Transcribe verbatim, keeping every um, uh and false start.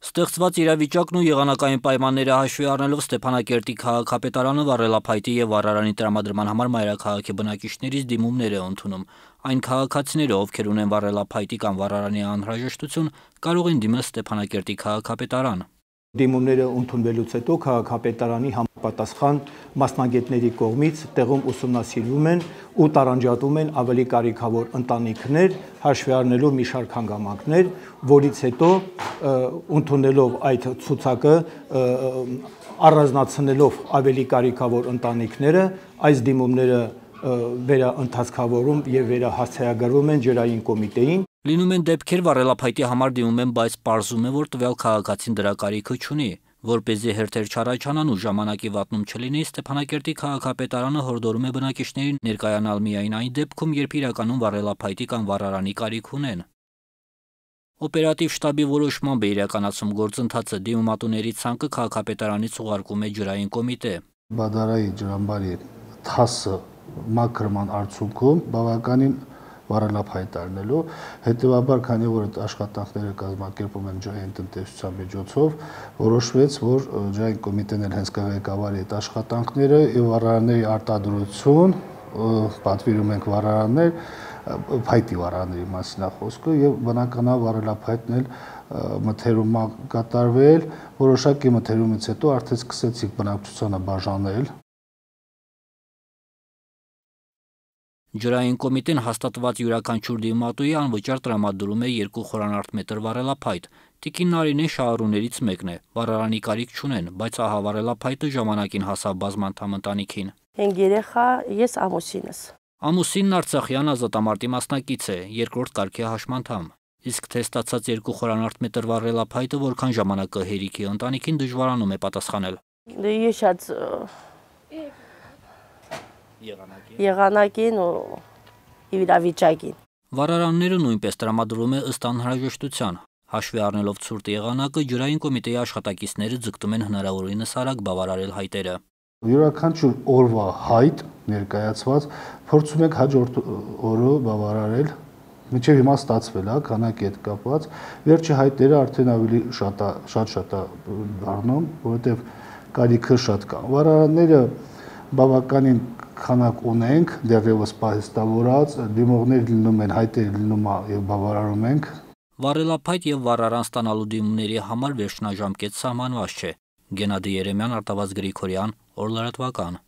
Ստեղծված իրավիճակն ու եղանակային պայմանները հաշվի առնելով Ստեփանակերտի քաղաքապետարանը վառելափայտի եւ վառարանի տրամադրման համար մայրաքաղաքի բնակիչներից դիմումներ է ընդունում։ Այն քաղաքացիները, ովքեր ունեն վառելափայտի կամ վառարանի անհրաժեշտություն, կարող են դիմել Ստեփանակերտի քաղաքապետարան։ Դիմումները ընդունվելուց հետո քաղաքապետարանի համապատասխան մասնագետների կողմից տեղում ուսումնասիրվում են ու տարանջատվում են ավելի կարիքավոր ընտանիքներ, հաշվի առնելով մի շարք հանգամանքներ, որից հետո ընդունելով այդ ցուցակը, առանձնացնելով ավելի կարիքավոր ընտանիքները, այս դիմումները վերաընթացքավորում եւ վերահասցեագրվում են ջրային կոմիտեին։ Լինում են դեպքեր վառելափայտի համար դիմում են, բայց պարզում է, որ տվյալ քաղաքացին դրա կարիքը չունի։ Որպեսզի հերթեր չառաջանան ու ժամանակի վատնում չլինի, Ստեփանակերտի քաղաքապետարանը հորդորում է բնակիչներին ներկայանալ միայն այն դեպքում, երբ իրականում վառելափայտի կամ վառարանի կարիք ունեն։ Օպերատիվ շտաբի որոշմամբ է իրականացում գործընթացը, դիմումատուների ցանկը քաղաքապետարանից ուղարկում է ջրային կոմիտե։ Բադարայի ջրամբարի թասը մաքրման արդյունքում բավականին վառելափայտ առնելու, հետևաբար, քանի որ այդ աշխատանքները կազմակերպում են ջրային տնտեսության միջոցով, որոշվեց, որ ջրային կոմիտեն էլ հենց կղեկավարի այդ աշխատանքները եւ վառարանների արտադրություն, պատվիրում ենք վառարաններ, փայտի վառարանների մասին է խոսքը եւ բնականաբար վառելափայտն էլ մթերում կատարվել, որոշակի մթերումից հետո արդեն սկսեցիք բնակչությանը բաժանել։ Ջրային կոմիտեն հաստատված յուրաքանչյուր դիմատուի անվճար տրամադրում է երկու խորանարդ մետր վառելափայտ։ Տիկին Նարինեն շահառուներից մեկն է, վառարանի կարիք չունեն, բայց ահա վառելափայտը ժամանակին հասավ բազմանդամ ընտանիքին։ Հինգ երեխա, ես ամուսինս։ Ամուսինն Արցախյան ազատամարտի մասնակից է, երկրորդ կարգի հաշմանդամ։ Իսկ թե ստացած երկու խորանարդ մետր վառելափայտը որքան ժամանակ կհերիքի ընտանիքին դժվարանում է պատասխանել։ Ես շատ եղանակին ու իրավիճակին։ Վառարանները նույնպես տրամադրում է ըստ անհրաժեշտության։ Հաշվի առնելով ցուրտ եղանակը, ջրային կոմիտեի աշխատակիցները ձգտում են հնարավորինս արագ բավարարել հայտերը։ Յուրաքանչյուր օրվա հայտ ներկայացված փորձում ենք հաջորդ օրը բավարարել։ Մինչև հիմա ստացվել է քանակի հետ կապված, վերջի հայտերը արդեն ավելի շատ շատ է դառնում, որովհետև կարիքը շատ կա։ Վառարանները բավականին քանակ ունենք, դեռևս պահեստավորած, դիմողներ լինում են, հայտեր լինում եւ բավարարում ենք։ Վառելափայտ եւ վառարան ստանալու դիմումների համար վերջնաժամկետ սահմանված չէ։ Գենադի Երեմյան, Արտավազդ Գրիգորյան, Օր լրատվական։